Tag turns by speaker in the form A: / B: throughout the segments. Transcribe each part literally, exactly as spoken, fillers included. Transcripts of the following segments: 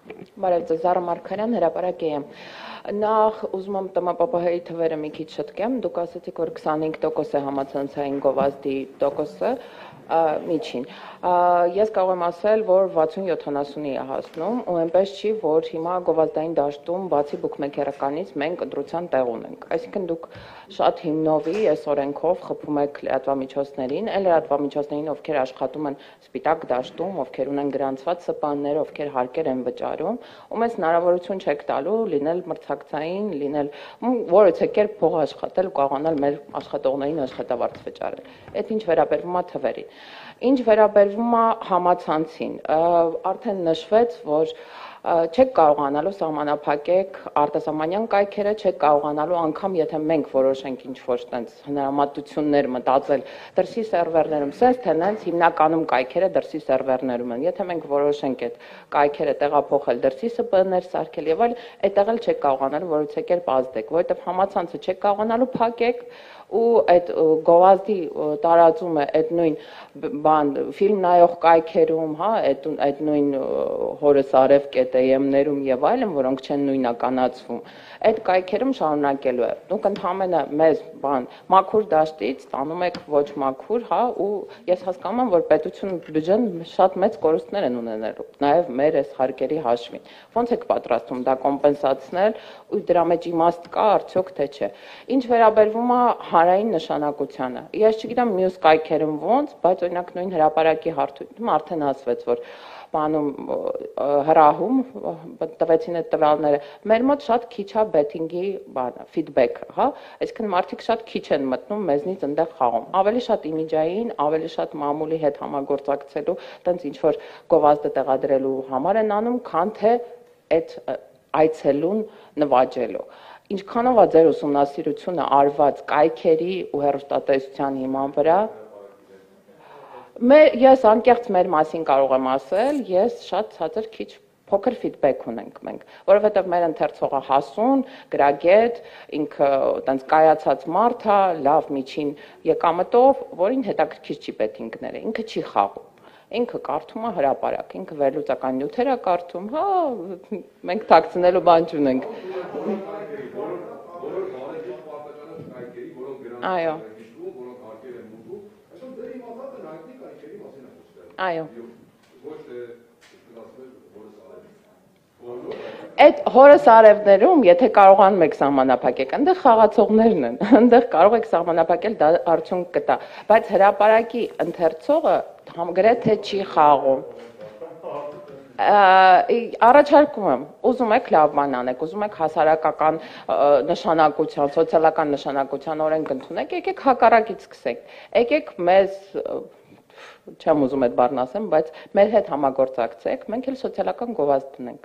A: Բարև ձեզ, Զարա Մարգարյան, հրապարակ եմ։ Նախ ուզում եմ ՏՄՊՊՀ-ի թվերը մի քիչ շտկեմ, դուք ասացիք, որ քսանհինգ տոկոս է համացանցային գովազդի տոկոսը միջին։ Ես կարող եմ ասել, որ վաթսուն-յոթանասունի է հասնում, ու այնպես չի, որ հիմա գովազդային դաշտում բացի բուքմեքերականից մենք ընտրության տեղ ունենք։ Այսինքն դուք շատ հիմնովի այս օրենքով խփում եք լրատվամիջոցներին, այն լրատվամիջոցներին, ովքեր աշխատում են սպիտակ դաշտում, ովքեր ունեն գրանցված սպաններ, ովքեր հարկեր են վճարում, ու մեզ հնարավորություն չեք տալու լինել մրցակցային, լինել որևէ կերպ փող աշխատել, կարողանալ մեր աշխատողներին աշխատավարձ վճարել։ Այդ ինչ վերաբերվում է թվերին։ Ինչ վերաբերվում է համացանցին, արդեն նշվեց, որ չեք կարողանալու սահմանափակեք արտասահմանյան կայքերը, չեք կարողանալու անգամ եթե մենք որոշենք ինչ-որ տենց հնարամատություններ մտածել դրսի սերվերներում, սենց թե նենց հիմնականում կայքերը դրսի սերվերներում են։ Եթե մենք որոշենք այդ կայքերը տեղափոխել դրսի ՍՊԸ-ներ սարքել եւ այլ, այդտեղ էլ չեք կարողանալու որևէ կերպ ազդեք, որովհետեւ համացանցը չեք կարողանալու փակեք ու այդ գովազդի տարածումը այդ նույն բան ֆիլմ նայող կայքերում, հա, այդ այդ նույն հորս արև կետեյեմներում եւ այլն, որոնք չեն նույնականացվում, այդ կայքերում շարունակելու է։ Դուք ընդհանրապես մեզ բան մաքուր դաշտից տանում եք ոչ մաքուր, հա, ու ես հասկանում եմ, որ պետություն բյուջեն շատ մեծ կորուստներ են ունենալու, նաեւ մեր այս հարկերի հաշվին։ Ոնց եք պատրաստում դա կոմպենսացնել ու դրա մեջ իմաստ կա արդյոք թե չէ։ Ինչ վերաբերվում է հանրային նշանակությանը։ Ես չգիտեմ մյուս կայքերում ոնց, բայց օրինակ նույն հրապարակի հարթությունում արդեն ասվեց, որ բանում հրահում տվեցին այդ տվյալները։ Մեր մոտ շատ քիչ է բեթինգի բանը, ֆիդբեքը, հա, այսինքն մարդիկ շատ քիչ են մտնում մեզնից այնտեղ խաղում։ Ավելի շատ իմիջային, ավելի շատ մամուլի հետ համագործակցելու, տենց ինչ որ գովազդը տեղադրելու համար են անում, քան թե այդ այցելուն նվաճելու։ Ինչքանով է ձեր ուսումնասիրությունը արված կայքերի ու հեռուստատեսության հիման վրա։ Ես անկեղծ մեր մասին կարող եմ ասել, ես շատ ցածր քիչ փոքր ֆիդբեք ունենք մենք, որովհետև մեր ընթերցողը հասուն, գրագետ, ինքը տենց կայացած մարդ է, լավ միջին եկամտով, որին հետաքրքիր չի բեթինգները, ինքը չի խաղում։ Ինքը կարդում է հրապարակ, ինքը վերլուծական նյութեր է կարդում, հա, մենք թաքցնելու բան չունենք։ Այո։ Այո։ Այդ հորս արևներում, եթե կարողանում եք սահմանափակեք, այնտեղ խաղացողներն են, այնտեղ կարող եք սահմանափակել, դա արդյունք կտա, բայց հրապարակի ընթերցողը գրեթե չի խաղում։ Առաջարկում եմ, ուզում եք լավ բան անեք, ուզում եք հասարակական նշանակության, սոցիալական նշանակության օրենք ընդունեք, եկեք հակառակից սկսենք, եկեք մեզ չեմ ուզում այդ բառն ասեմ, բայց մեր հետ համագործակցեք, մենք էլ սոցիալական գովազդ դնենք։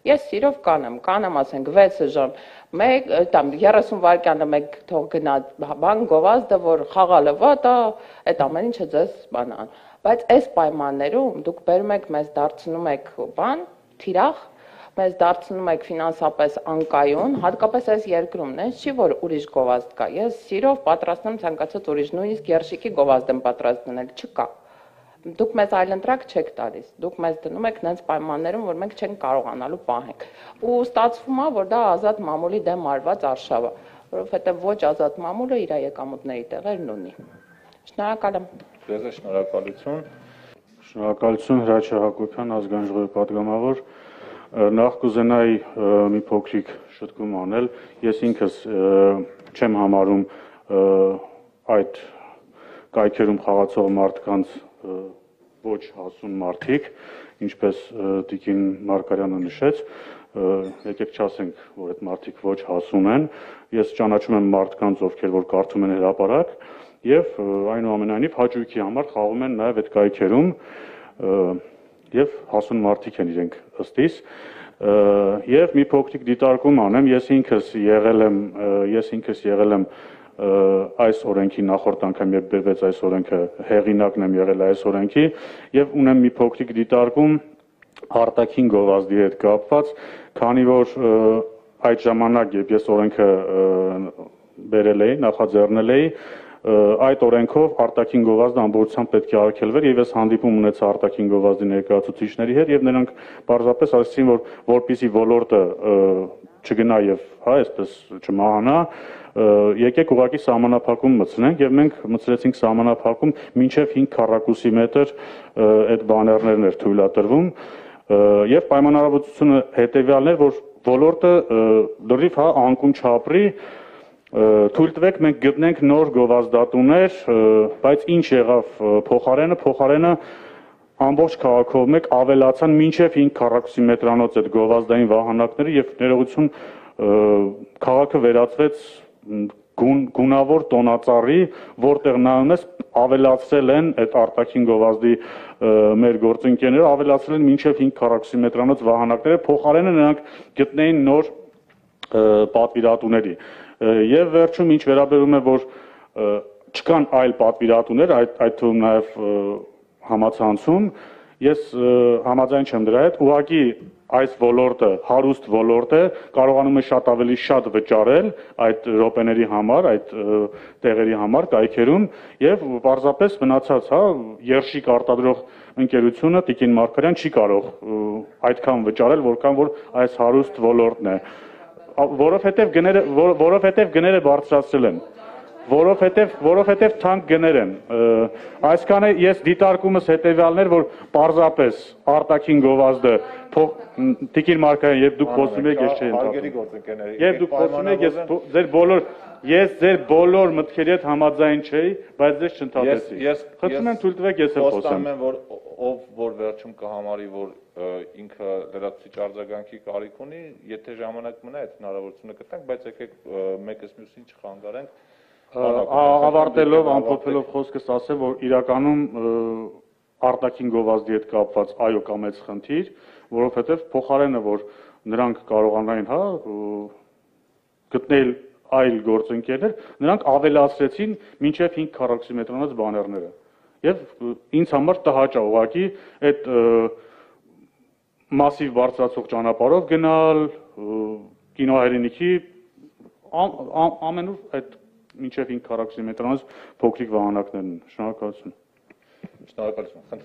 A: Ես սիրով կանեմ, կանեմ ասենք վեց ժամ, մեկ там երեսուն վայրկյանը մեկ թող գնա բան գովազդը, որ խաղալը վատ է, այդ ամեն ինչը ձեզ բանան։ Բայց այս պայմաններում դուք բերում եք մեզ դարձնում եք բան, թիրախ, մեզ դարձնում եք ֆինանսապես անկայուն, հատկապես այս երկրում, նենց չի, որ ուրիշ գովազդ կա։ Ես սիրով պատրաստ եմ ցանկացած ուրիշ, նույնիսկ երշիկի գովազդ եմ պատրաստ դնել, չկա։ Դուք մեզ այլընտրակ չեք տալիս, դուք մեզ դնում եք նենց պայմաններում, որ մենք չենք կարողանալու պահենք։ Ու ստացվում է, որ դա ազատ մամուլի դեմ արված արշավ է, որովհետև ոչ ազատ մամուլը իր եկամուտների տեղերն ունի։ Շնորհակալ եմ։
B: Ձեզ շնորհակալություն։ Շնորհակալություն Հրաչյա Հակոբյան, ազգային ժողովի պատգամավոր։ Նախ կուզենայի մի փոքրիկ շտկում անել։ Ես ինքս չեմ համարում այդ կայքերում խաղացող մարդկանց ոչ հասուն մարդիկ, ինչպես Տիկին Մարգարյանը նշեց, եկեք չասենք, որ այդ մարդիկ ոչ հասուն են, ես ճանաչում եմ մարդկանց, ովքեր որ կարդում են հրապարակ եւ այնուամենայնիվ հաճույքի համար խաղում են նաեւ այդ կայքերում եւ հասուն մարդիկ են իրենք ըստիս եւ մի փոքրիկ դիտարկում անեմ, ես ինքս եղել եմ, ես ինքս եղել եմ այս օրենքի նախորդ անգամ երբ բերվեց այս օրենքը հեղինակն եմ եղել այս օրենքի եւ ունեմ մի փոքրիկ դիտարկում արտաքին գովազդի հետ կապված, քանի որ այդ ժամանակ երբ ես օրենքը բերել էի, նախաձեռնել էի, այդ օրենքով արտաքին գովազդը ամբողջությամբ պետք է արգելվեր եւ ես հանդիպում ունեցա արտաքին գովազդի ներկայացուցիչների հետ եւ նրանք պարզապես ասացին, որ որպեսզի ոլորտը չգնա եւ հա այսպես չմահանա, եկեք ուղղակի սահմանափակում մտցնենք եւ մենք մտցրեցինք սահմանափակում մինչեւ հինգ քառակուսի մետր այդ բաներներն էր թույլատրվում եւ պայմանավորվածությունը հետեւյալն էր, որ ոլորտը լրիվ հա անկում չապրի, թույլ տվեք մենք գտնենք նոր գովազդատուներ, բայց ինչ եղավ փոխարենը, փոխարենը ամբողջ քաղաքով մեկ ավելացան մինչև հինգ քառակուսի մետրանոց այդ գովազդային վահանակները եւ ներողություն քաղաքը վերածվեց գունավոր տոնածառի, որտեղ նայում ես ավելացրել են այդ արտաքին գովազդի մեր գործընկերները, ավելացրել են մինչև հինգ քառակուսի մետրանոց վահանակները, փոխարենը նրանք գտնեին նոր պատվիրատուների եւ վերջում ինչ վերաբերում է որ չկան այլ պատվիրատուներ, այդ այդ թվում նաեւ համացանցում, ես համաձայն չեմ դրա հետ, ուղղակի այս ոլորտը հարուստ ոլորտ է, կարողանում է շատ ավելի շատ վճարել այդ րոպեների համար, այդ տեղերի համար, կայքերում եւ պարզապես մնացած, հա, երշիկ արտադրող ընկերությունը Տիկին Մարգարյան չի կարող այդքան վճարել, որքան որ այս հարուստ ոլորտն է, որովհետեւ գները որովհետեւ գները բարձրացրել են, որովհետեւ որովհետեւ թանկ գներ են, այսքանը ես դիտարկումս հետեւյալն էր, որ պարզապես արտաքին գովազդը Տիկին Մարգարյան, երբ դուք խոսում եք, ես չէի ընդհատում, երբ դուք խոսում եք, ես ձեր բոլոր ես ձեր բոլոր մտքերի հետ համաձայն չէի, բայց ձեզ չընդհատեցի, խնդրում եմ թույլ տվեք ես էլ խոսեմ,
C: ով որ վերջում կհամարի, որ ինքը լրացուցիչ արձագանքի կարիք ունի, եթե ժամանակ մնա այդ հնարավորությունը կտանք, բայց եկեք մեկս մյուսին չխանգարենք,
B: ավարտելով, ամփոփելով խոսքս ասեմ, որ իրականում արտաքին գովազդի հետ կապված այո կա մեծ խնդիր, որովհետև փոխարենը որ նրանք կարողանային, հա, գտնել այլ գործընկերներ, նրանք ավելացրեցին մինչև հինգ քառակուսի մետրանոց բաներները։ Եվ ինձ համար տհաճ է ուղղակի այդ մասիվ բարձրացող ճանապարհով գնալ, կինոհայրենիքի ամենուր այդ մինչև հինգ քառակուսի մետրանոց փոքրիկ վահանակներն են։ Շնորհակալություն։
C: Շնորհակալություն։